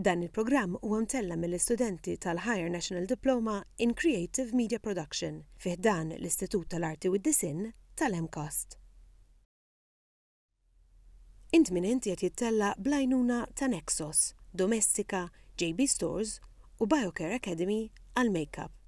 Dan il-programm huwa mtella' mill-istudenti tal-Higher National Diploma in Creative Media Production fi ħdan l-Istitut tal-Arti u d-Disinn tal-MCAST. Int Min Int qiegħed jittella' bl-għajnuna ta' Nexos, Domestika, JB Stores u Biocare Academy għall-Makeup.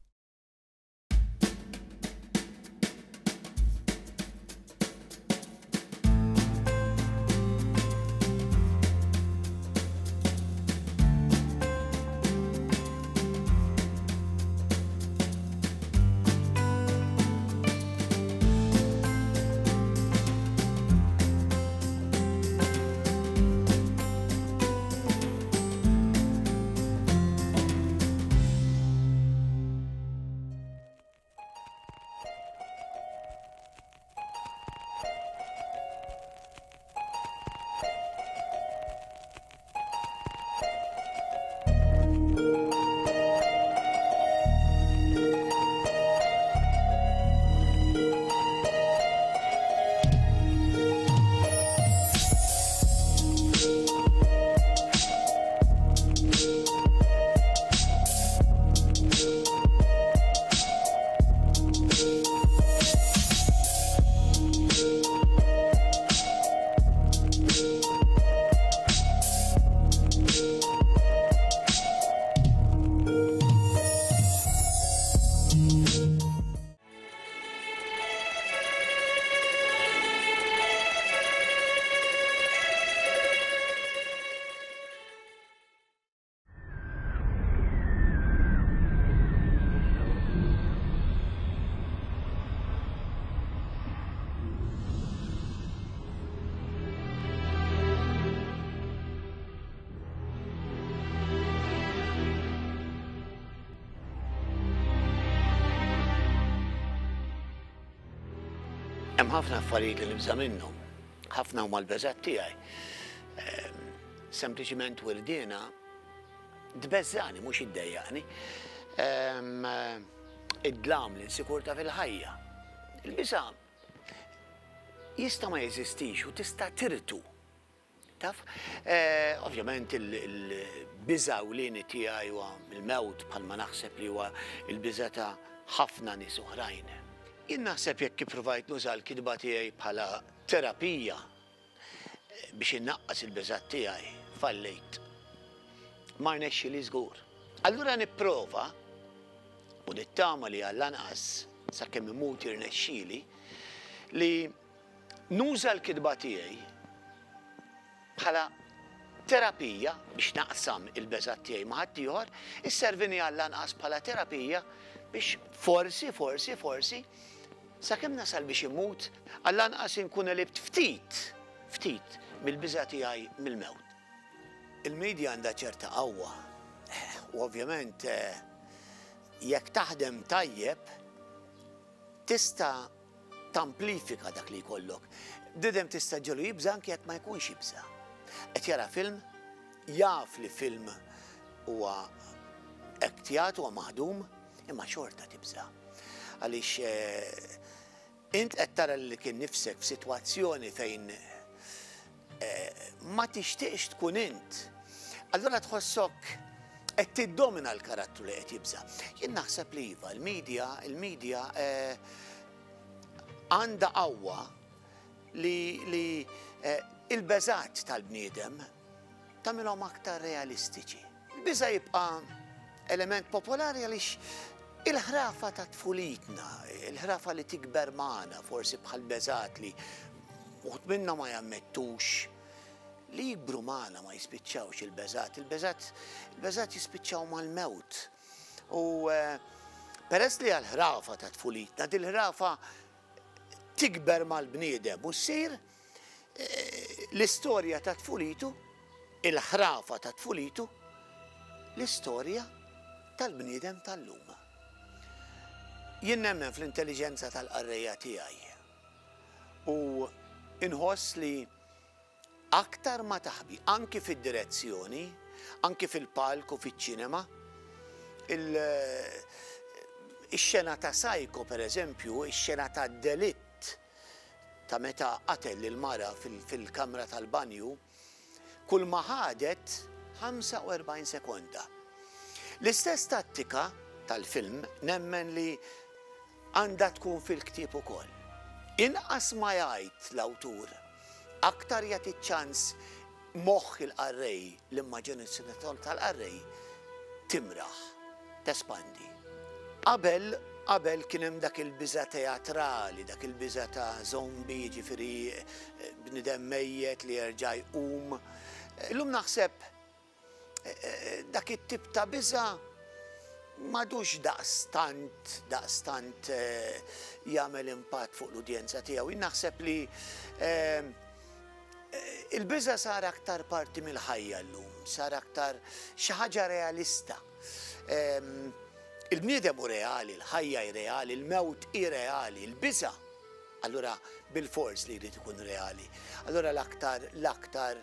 Hemm ħafna affarijiet li nibża' minnhom. Ħafna huma l-beżgħat tiegħi. Ehm, sempliċiment wirdiena tbeżżani mhux iddejjaqni. Ehm, id-dlam l-insikurta fil-ħajja. Il-biża' jista' ma jeżistix u tista' tirtu. Taf? Eh, ovvjament il-biża' ewlieni tiegħi huwa il-mewt bħalma naħseb li huwa il-biża' ta' ħafna nies oħrajn. Jien naħseb jekk ippruvajt nuża l-kitba tiegħi bħala terapija eh, biex innaqqas il-biżgħat tiegħi, fallejt. Ma rnexxili żgur. Allura nipprova u nittama li għall-anqas sakemm imut jirnexxieli li Nuża l-kitba tiegħi bħala terapija biex naqsam il-beżgħat tiegħi ma' ħaddieħor, isservini għall-anqas bħala terapija biex forsi, forsi, forsi, sakemm nasal biex immut, għall-anqas inkun għelibt ftit, ftit mill-biża' tiegħi mill-mewt. Il-media għandha ċerta qawwa u ovvjament jekk taħdem tajjeb tista' tamplifika dak li jkollok. Bniedem tista' ġelu jibża' anke jekk ma jkunx jibża'. Qed jara film, jaf li film huwa ektjat huwa maħdum, imma xorta tibża'. Għaliex eh, int qed tara li kien nifsek f'sitwazzjoni fejn eh, ma tixtieqx tkun int. Allura tħossok qed tiddomina l-karattru li qed jibża'. Jien naħseb li iva, il-media, il-media eh, għandha qawwa li, li eh, il-beżat tal-bniedem tagħmilhom aktar realistiċi. Il-biża' jibqa' element popolari għaliex il-ħrafa ta' tfulitna, il-ħrafa li tikber magħna, forsi bħal beżat li uħud minna ma jammettux li jikbru magħna ma jispiċċawx il-beżat, il-beżat il-beżat jispiċċaw mal-mewt. U eh, peress li għal-ħrafa ta' tfulitna, dil-ħrafa tikber mal-bniedem u ssir eh, l-istorja ta' tfulitu, il-ħrafa ta' tfulitu, l-istorja tal-bniedem tal-lum. Jien nemmen fl-intelliġenza tal-qarrejja tiegħi u inħoss li Aktar ma taħbi, anki fid-direzzjoni, anki fil-palk u fiċ-ċinema, ix-xena ta' Psycho, per eżempju, ix-xena ta' delitt ta' meta qatel lil mara fil-kamra tal-banju, kull ma ħadet. 45 sekonda. L-istess tattika tal-film nemmen li għandha tkun fil-ktieb ukoll. Inqas ma jgħid l-awtur, aktar jagħti ċans moħħ il-qarrej, l-immaġinazzjoni tal-qarrej timraħ, tespandi. Qabel, qabel kien hemm dak il-biża' teatrali, dak il-biża' ta' zombie, jiġifieri bniedem mejjet li jerġa' jqum. Illum naħseb dak it-tip ta' biża' m'għadux daqstant, daqstant jagħmel impatt fuq l-udjenza tiegħu. Jien naħseb li il-biża' sar aktar parti mill-ħajja llum, sar aktar xi ħaġa realista. Il-bniedem hu reali, il-ħajja hi reali, il-mewt hi reali, il-biża' allura bilfors li jrid ikun reali. Allura l-aktar l-aktar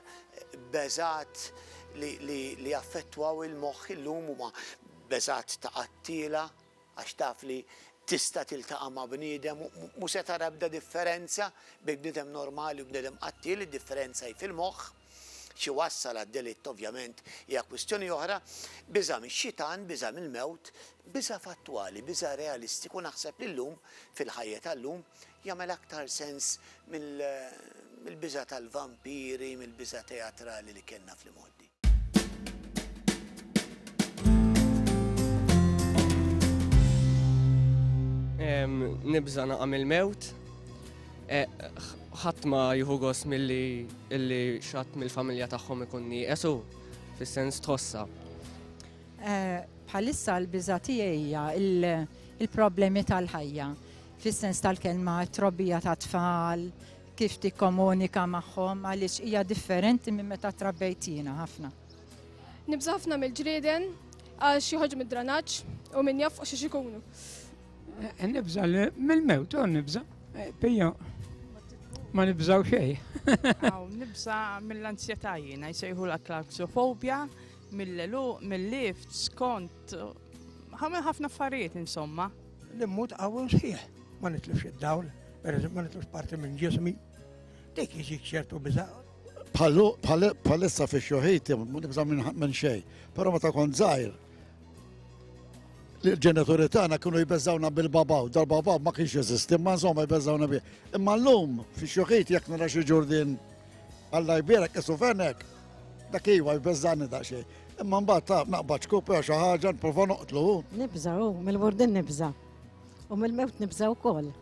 beżgħat li li li jaffettwaw il-moħħ illum huma beżgħat ta' qattiela għax taf li tista' tiltaqa' ma' bniedem u mhu se tara ebda differenza bejn bniedem normali u bniedem qattiel, id-differenza hi fil-moħħ. Xi wassal għad-delitt ovvjament hija kwistjoni oħra. Biża' mix-xitan, biża' mill-mewt, biża' fattwali, biża' realistiku naħseb li llum, fil-ħajja tal-lum, jagħmel aktar sens mill-biża' tal-vampiri, mill-biża' teatrali li kellna fl-imgħoddi. Nibża' naqa' mill-mewt. Ħadd ma jieħu gost milli illi xatt mill-familja tagħhom ikun nieqes u fis-sens tħossha. Bħalissa l-biża' tiegħi hija il-problemi tal-ħajja, fis-sens tal-kelma t-trobbija tat-tfal, kif tikkomunika magħhom għaliex hija differenti minn meta trabbejt jiena ħafna. Nibża' ħafna mill-ġrieden għax joħorġu mid-dranaġġ u min jaf fuq xiex ikunu. Nibża' mill-mewt, u nibża'. Pija, ma nibżaw xejn. Nibża' mill-anzjetà jiena, jsejħu la klaustrophobia, mill-għeluq, mill-lifts, kont ħafna affarijiet insomma. Li mmut qawwi u sħiħ, ma nitlifx id-dawl, pereżempju ma nitlifx parti minn ġismi. Dik jiġik ċertu biża'. Bħalissa fi xjuħiti ma nibża' minn xejn, però meta kont żgħir l-ġenituri tagħna kienu jbeżżawna bil-babaw, dal-babaw ma kienx jeżisti, imma insomma jbeżżawna bih. Imma llum fi xjuħiti jekk nara xi ġurdien Alla jbierek isu fenek, dak iva jbeżżani daqsxejn. Imma mbagħad taf naqbad xkup jew xi ħaġa nipprova noqtlu. Nibża' hu, mill-burdin nibża'. U mill-mewt nibża' wkoll.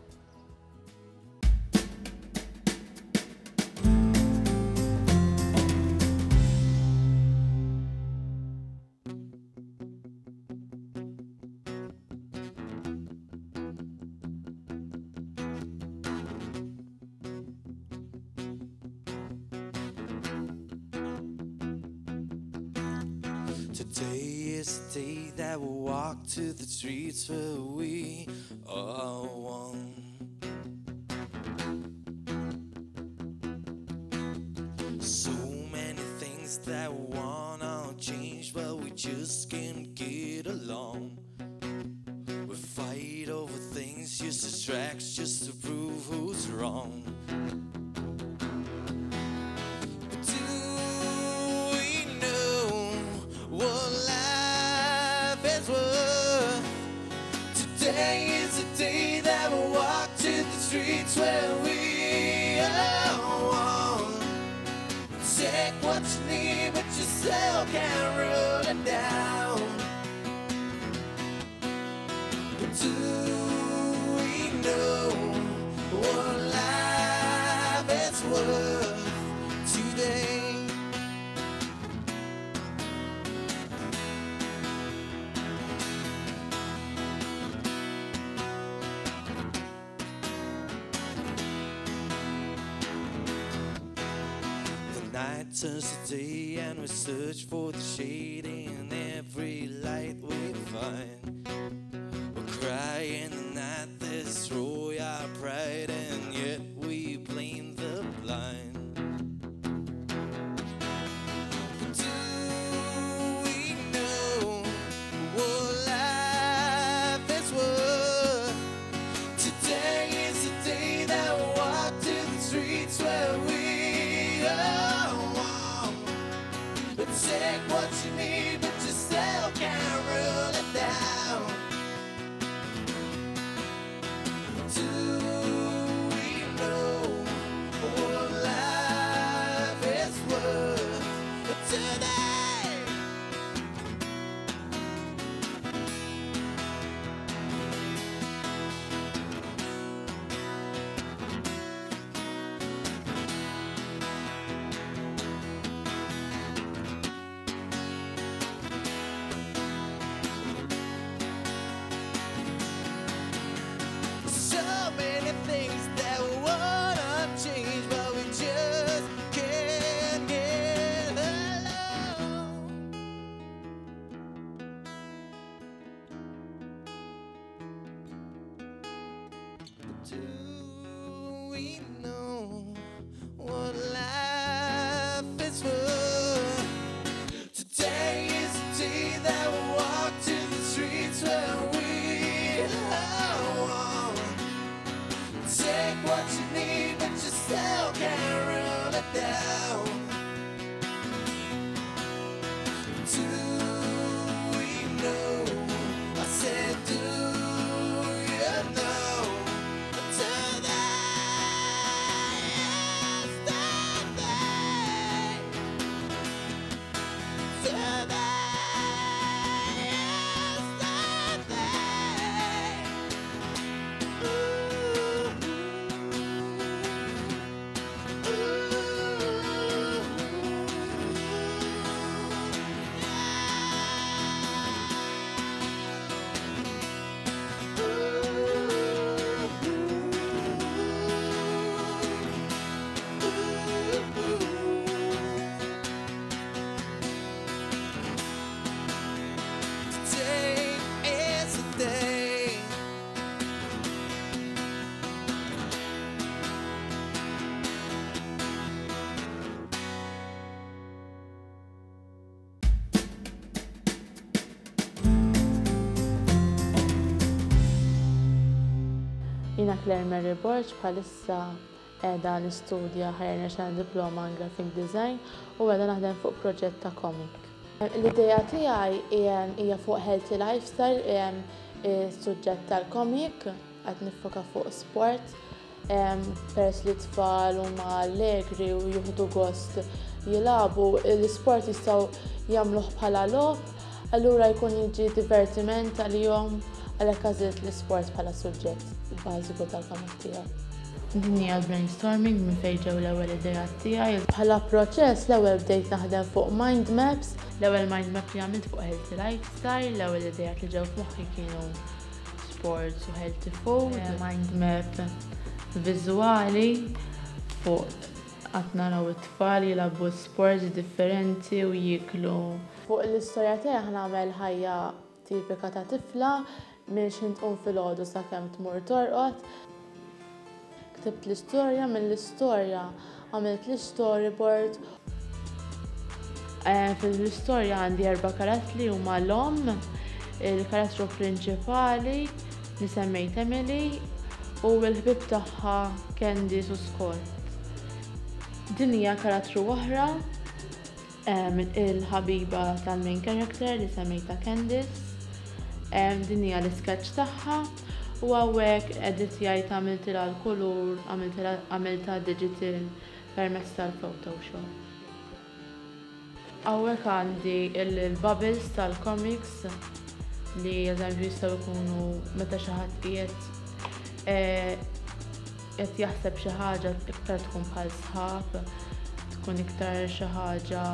Today is the day that we'll walk to the streets where we are one. So many things that wanna change, but we just can't get along. We fight over things, just distracts, just to prove who's wrong. But do we know what life is worth? Today is the day that we walk to the streets where we are one. Take what you need, but yourself can't rule it down. But do we know what life is worth today? The night turns to day and we search for the shade in every light we find. We cry in the night, destroy our pride, and yet we blame the blind. But do we know what life is worth? Today is the day that we walk to the streets where we are one. But take what Do we know what life is for? Today is the day that we walk to the streets where we are one. Take what you need, but you still can't run it down. Do we know? I said, do you know? Do they stop they? Do they stop they? Ooh, Today is the day. Jiena Claire Mary Borg bħalissa qiegħda nistudja Higher National Diploma in Graphic Design u qiegħda naħdem fuq proġett ta' comic. L-idea tiegħi hija fuq healthy lifestyle, is-suġġett tal-comic, qed niffoka fuq sport, peress li t-tfal huma allegri u jieħdu gost jilagħbu, l-isport jistgħu jagħmluh bħala logħob, allura jkun jiġi divertiment għalihom, għalhekk għażilt l-isport bħala suġġett bażiku tal-comic tiegħi. Din hija l-brainstorming minn fejn ġew l-ewwel ideat tiegħi. Bħala proċess l-ewwel bdejt naħdem fuq mind maps. L-ewwel mind map li għamilt fuq healthy lifestyle, l-ewwel ideat li ġew f'moħħi kienu sports u healthy food. Mind map viżwali fuq qatt naraw it-tfal jilagħbu sports differenti u jieklu. Fuq l-istorja tiegħi ħa nagħmel ħajja tipika ta' tifla minn x'ħin tqum filgħodu sakemm tmur torqod. Ktibt l-istorja, mill-istorja għamilt l-storyboard. Fil-istorja għandi 4 karattri huma l-omm, il-karattru prinċipali li semmejt Emily u l-ħbieb tagħha Candice u Scott. Din hija karattru oħra, il-ħabiba tal-main character li semmejtha Candice. Din hija l-isketch tagħha u hawnhekk editjajt għamiltilha l-kulur, għamiltha digital permezz tal-Photoshop. Hawnhekk għandi il-bubbles tal-comics li eżempju jistgħu jkunu meta xi ħadd qed jaħseb xi ħaġa iktar tkun bħal sħab, tkun iktar xi ħaġa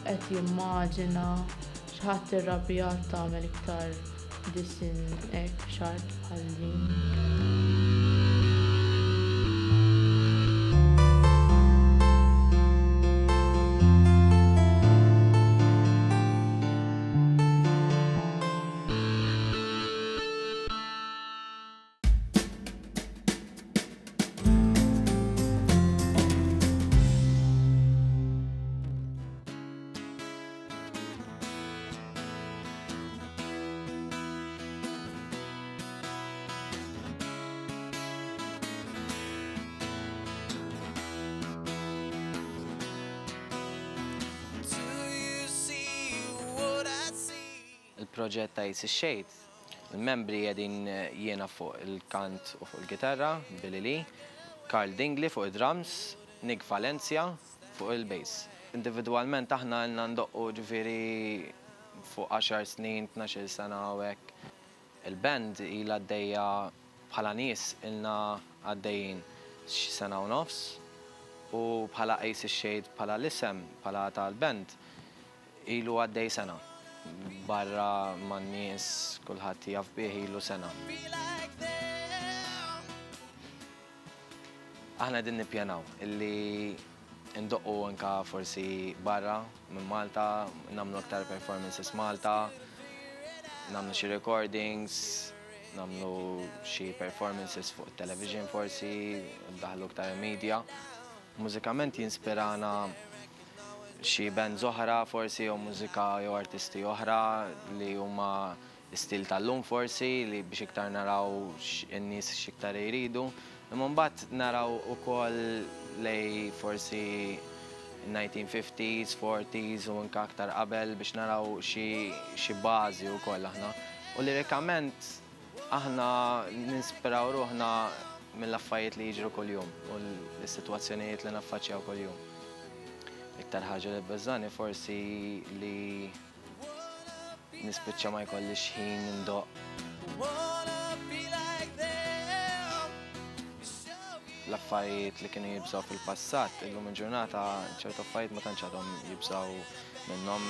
qed jimmaġina, xi ħadd irrabjat tagħmel iktar disin hekk xart bħal din. Il-proġett ta' Aces Shade, il-membri qegħdin jiena fuq il-kant u fuq il-gitarra, Billy Lee, Carl Dingley fuq id-drums, Nick Valencia fuq il-bass. Individwalment aħna ilna ndoqqu ġifieri fuq 10 snin, 12 sena u hekk. Il-band ilha għaddejja bħala nies ilna għaddejjin xi sena u nofs u bħala Aces Shade bħala l-isem bħala tal-band ilu għaddej sena. Barra man-nies kulħadd jaf bih ilu sena. Aħna qegħdin nippjanaw illi ndoqqu anka forsi barra minn Malta, nagħmlu aktar performances Malta, nagħmlu xi recordings. Nagħmlu xi performances fuq television forsi, ndaħlu iktar media. Mużikament jinspirana xi bands oħra forsi jew mużika jew artisti oħra li huma stil tal-lum forsi li biex iktar naraw in-nies x'iktar jridu. Imma mbagħad naraw ukoll lejn forsi 1950s, 40s u anke aktar qabel biex naraw xi bażi wkoll aħna. U lirikament aħna ninspiraw ruħna mill-affarijiet li jiġru kuljum u l-sitwazzjonijiet li naffaċċjaw kuljum. Iktar ħaġa li tbeżżagħni forsi li nispiċċa ma jkollix ħin indoqq. L-affarijiet li kienu jibżgħu fil-passat, illum il-ġurnata ċertu affarijiet ma tantx għadhom jibżgħu minnhom.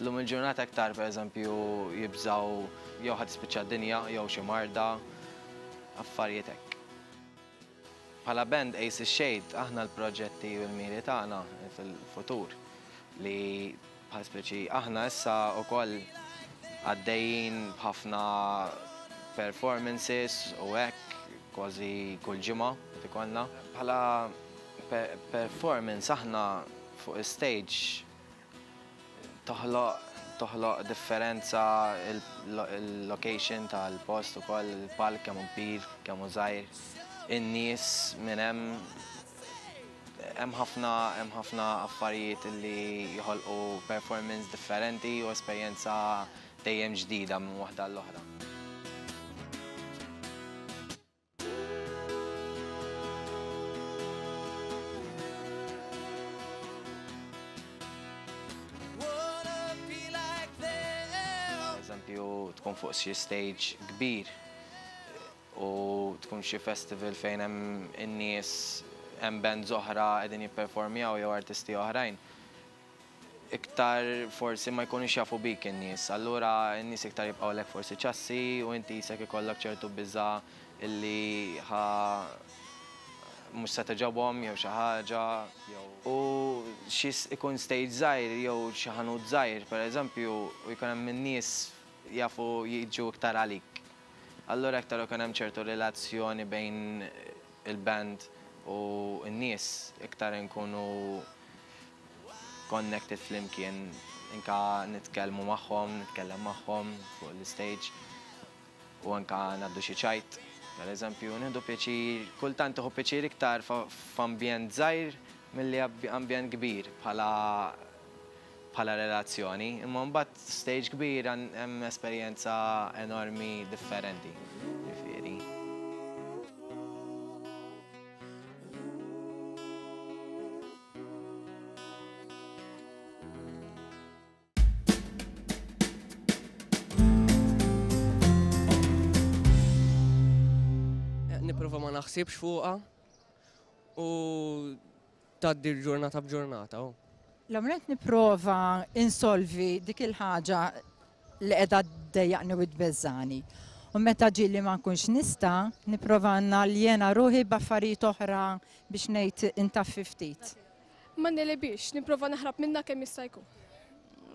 Illum il-ġurnata iktar pereżempju jibżgħu jew ħa tispiċċa d-dinja jew xi marda, affarijiet hekk. Bħala band Aces Shade aħna l-proġetti u l-miri tagħna fil-futur li bħal speċi aħna issa wkoll għaddejjin b'ħafna performances u hekk kważi kull ġimgħa qed ikollna. Bħala performance aħna fuq is-stage Toħloq toħloq differenza il-location tal-post ukoll, il-palk kemm hu kbir, kemm hu żgħir, in-nies minn hemm hemm ħafna hemm ħafna affarijiet li joħolqu performance differenti u esperjenza dejjem ġdida minn waħda għall-oħra. Eżempju, tkun fuq xi stage kbir u tkun xi festival fejn hemm in-nies hemm bands oħra qegħdin jipperformjaw jew artisti oħrajn. Iktar forsi ma jkunux jafu bik in-nies. Allura n-nies iktar jibqgħulek forsi ċassi u inti qisek ikollok ċertu biża' illi ħa mhux se togħġobhom jew xi ħaġa jew. U xi ikun stage żgħir jew xi ħanut żgħir pereżempju u jkun hemm in-nies jafu jiġu iktar għalik. Allura iktar ikun hemm ċertu relazzjoni bejn il-band u n-nies iktar inkunu connected flimkien, anka nitkellmu magħhom, nitkellem magħhom fuq l-istage u anka ngħaddu xi ċajt. Per eżempju, nieħdu pjaċir, kultant tieħu pjaċir iktar f'ambjent żgħir milli ambjent kbir bħala bħala relazzjoni, imma mbagħad stage kbir hemm esperjenza enormi differenti. Ġifieri. Nipprova ma naħsibx fuqha u tgħaddi l-ġurnata b'ġurnata. L-ewwel nett nipprova insolvi dik il-ħaġa li qiegħda ddejjaqni u tbeżżagħni. U meta ġieli ma nkunx nista', nipprova naljena ruħi b'affarijiet oħra biex ngħid intaffi ftit. Ma negħlibhiex, nipprova naħrab minnha kemm jista' jkun.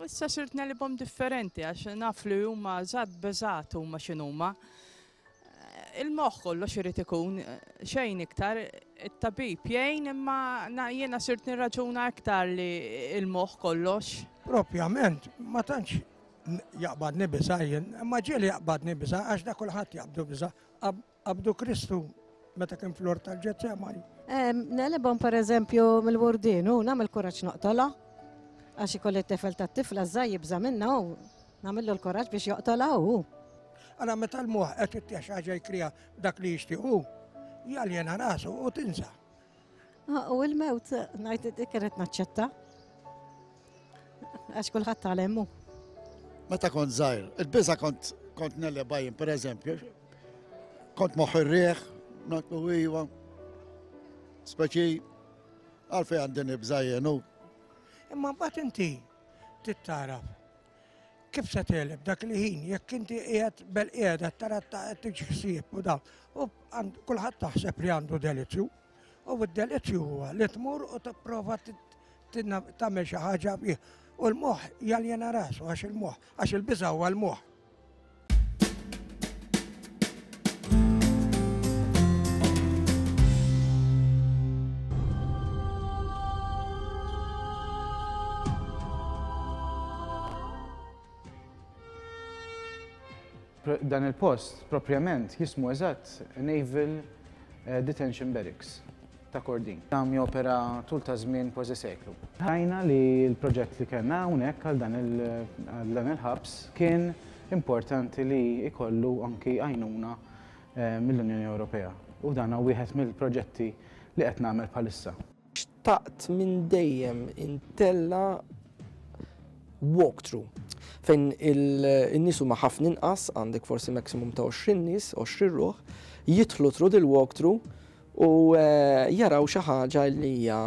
Issa sirt negħlibhom differenti għax naf li huma żgħat beżgħat huma x'inhuma. Il-moħħ kollox irid ikun, xejn iktar, it-tabib jgħin imma jiena sirt nirraġuna iktar li il-moħħ kollox. Propjament, ma tantx jaqbadni biża' jien, imma ġieli jaqbadni biża' għax da kulħadd jaqbdu biża'. Qabdu Kristu meta kien fl-ort tal-Ġetsemani. Negħlibhom pereżempju mill-wurdien u nagħmel kuraġġ noqtolha għax ikolli t-tifel tat-tifla żgħir jibża' minnha u nagħmillu l-kuraġġ biex joqtolha hu. Ara meta l-moħħ qed ittieħ xi ħaġa jkriha dak li jixtieq hu, jaljena rasu u tinsa. Ah, u l-mewt ngħid dik irid naċċetta. Għax kulħadd tagħlem hu. Meta kont żgħir, il-biża kont kont neleba jien pereżempju, kont moħħ ir-riħ, ngħidlu iva. Speċi għalfejn għandi nibża' jien hu. Imma mbagħad inti tittaraf kif se tegħleb dak li ħin jekk inti qiegħed bel-qiegħda tara qed tiġi ħsieb u dawn. U kulħadd taħseb li għandu delizzju. U d-delizzju huwa li tmur u tipprova tagħmel xi ħaġa bih. U l-moħħ jaljena rasu għax il-moħħ, għax il-biża' huwa l-moħħ. Dan il-post proprjament jismu eżatt Naval eh, Detention Barracks ta' Kordin. Dam jopera tul ta' żmien kważi seklu. Rajna li l-proġett li kellna hawnhekk għal dan il-ħabs kien importanti li jkollu anki għajnuna eh, mill-Unjoni Ewropea. U dan wieħed mill-proġetti li qed nagħmel bħalissa. Xtaqt minn dejjem intella' walkthrough fejn in-nies huma ħafna inqas, għandek forsi maximum ta' 20 nies, 20 ruħ, jidħlu through dil-walkthrough u jaraw xi ħaġa li hija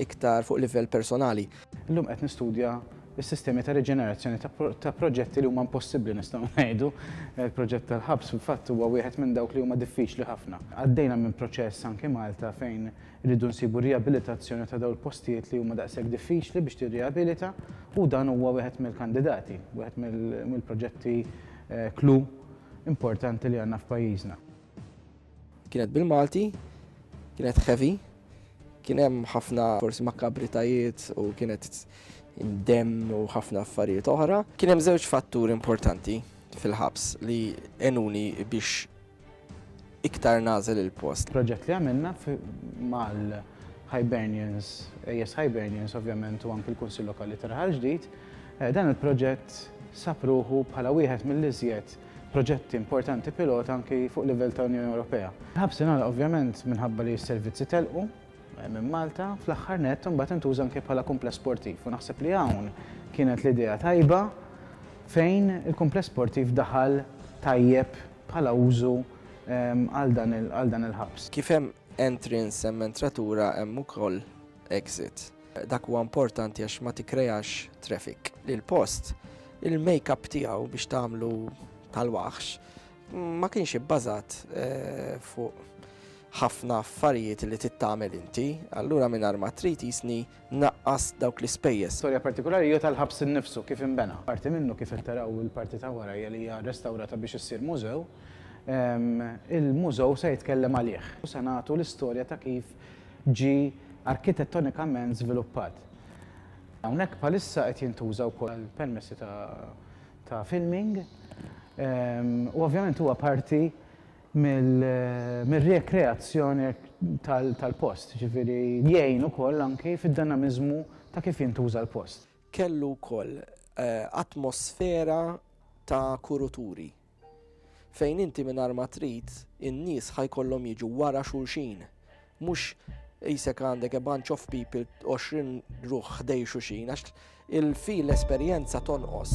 iktar fuq livell personali. Illum qed nistudja s-sistemi ta' riġenerazzjoni ta' proġetti li huma impossibbli nistgħu ngħidu. Il-proġett tal-ħabs fil-fatt huwa wieħed minn dawk li huma diffiċli ħafna. Għaddejna minn proċess anki Malta fejn Irridu nsibu riabilitazzjoni ta' dawn il-postijiet li huma daqshekk diffiċli biex tirriabilita u dan huwa wieħed mill-kandidati, wieħed mill-proġetti clou importanti li għandna f'pajjiżna. Kienet bil-Malti, kienet heavy, kien hemm ħafna forsi makabritajiet u kienet demm u ħafna affarijiet oħra. Kien hemm żewġ fatturi importanti fil-ħabs li għenuni biex iktar nagħżel il-post. Proġett li għamilna mal-Hibernians, AS Hibernians ovvjament u anki l-Kunsill Lokali ta' Raħal Ġdid, dan il-proġett sab ruħu bħala wieħed mill-iżjed proġetti importanti pilota anki fuq livell ta' Unjoni Ewropea. Il-ħabs ingħalaq ovvjament minħabba li s-servizzi telqu minn Malta, fl-aħħar nett imbagħad intuża anke bħala kumpless sportiv u naħseb li hawn kienet l-idea tajba fejn il-kumpless sportiv daħal tajjeb bħala użu għal dan il-ħabs. Kif hemm entrance hemm entratura hemm ukoll exit. Dak huwa importanti għax ma tikkreax traffic. Il-post, il-make-up tiegħu biex tagħmlu tal-waħx ma kienx ibbażat eh, fuq ħafna affarijiet li tittamel inti, allura mingħajr ma trid jisni naqqas dawk l-ispejjeż. Storja partikulari hija tal-ħabs innifsu kif inbena. Parti minnu kif qed taraw il-parti ta' wara hija li hija restawrata biex issir mużew. Il-mużew se jitkellem għalih. U se nagħtu l-istorja ta' kif ġie arkitettonikament żviluppat. Hawnhekk bħalissa qed jintuża wkoll għal permessi ta' filming u ovvjament huwa parti mir-rikreazzjoni tal-post, jiġifieri jgħin ukoll anki fid-dinamiżmu ta' kif jintuża l-post. Kellu wkoll atmosfera ta' kuruturi, fejn inti mingħajr ma trid in-nies ħa jkollhom jiġu wara xulxin, mhux qisek għandek a bunch of people 20 ruħ ħdej xulxin għax il-feel l-esperjenza tonqos.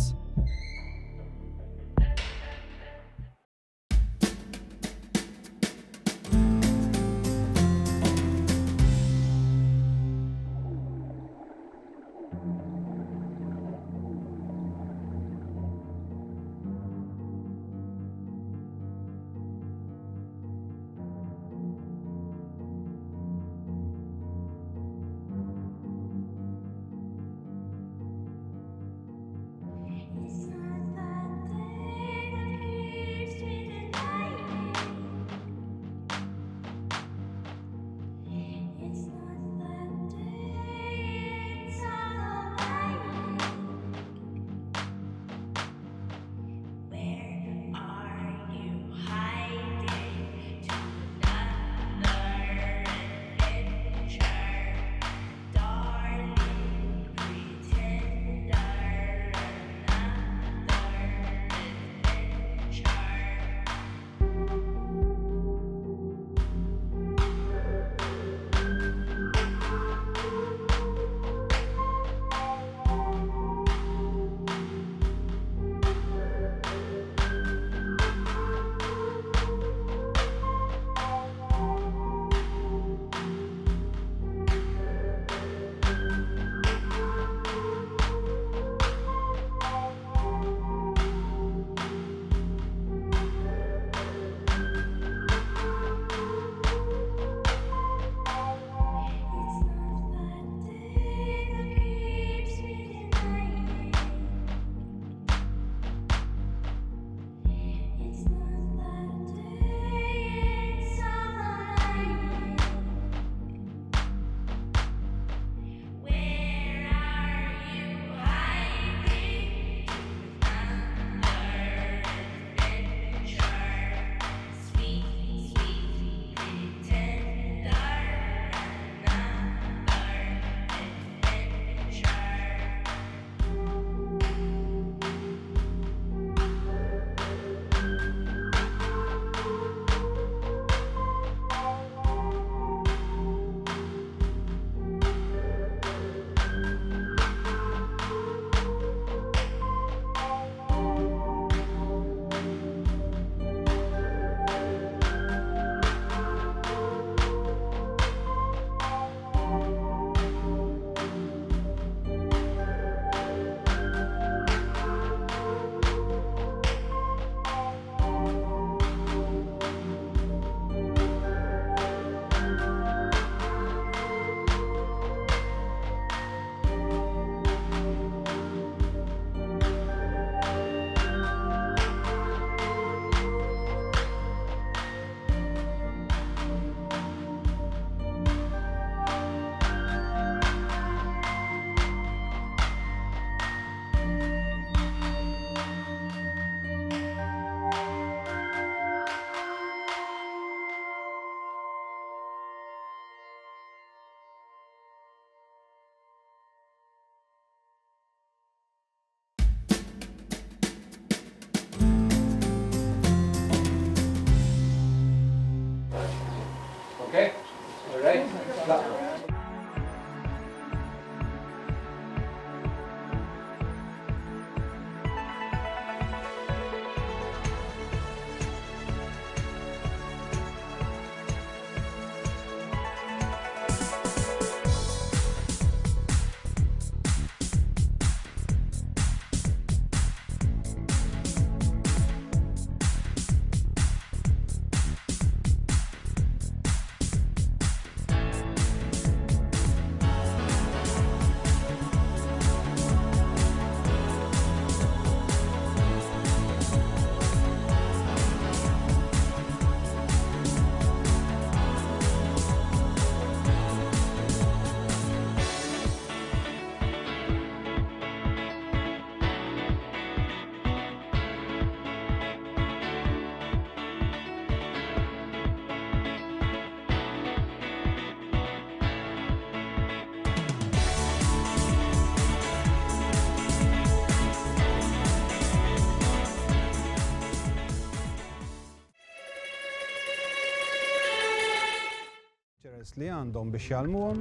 li għandhom biex jgħallmuhom.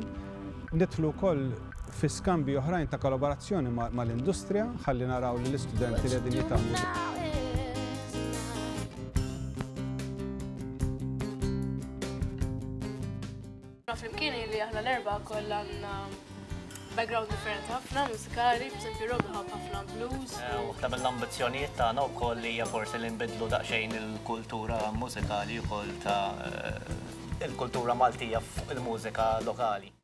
Nidħlu wkoll fi skambji oħrajn ta' kollaborazzjoni mal-industrija ħalli naraw li l-istudenti li qegħdin jitgħallmu. Flimkien li aħna l-erba kollha għandna background differenti ħafna mużikali, b'eżempju Rob ħabb ħafna blues. Eh, waħda mill-ambizzjonijiet tagħna wkoll hija forsi li nbidlu daqsxejn il-kultura mużikali wkoll ta' eh, il-kultura Maltija fuq il-mużika lokali.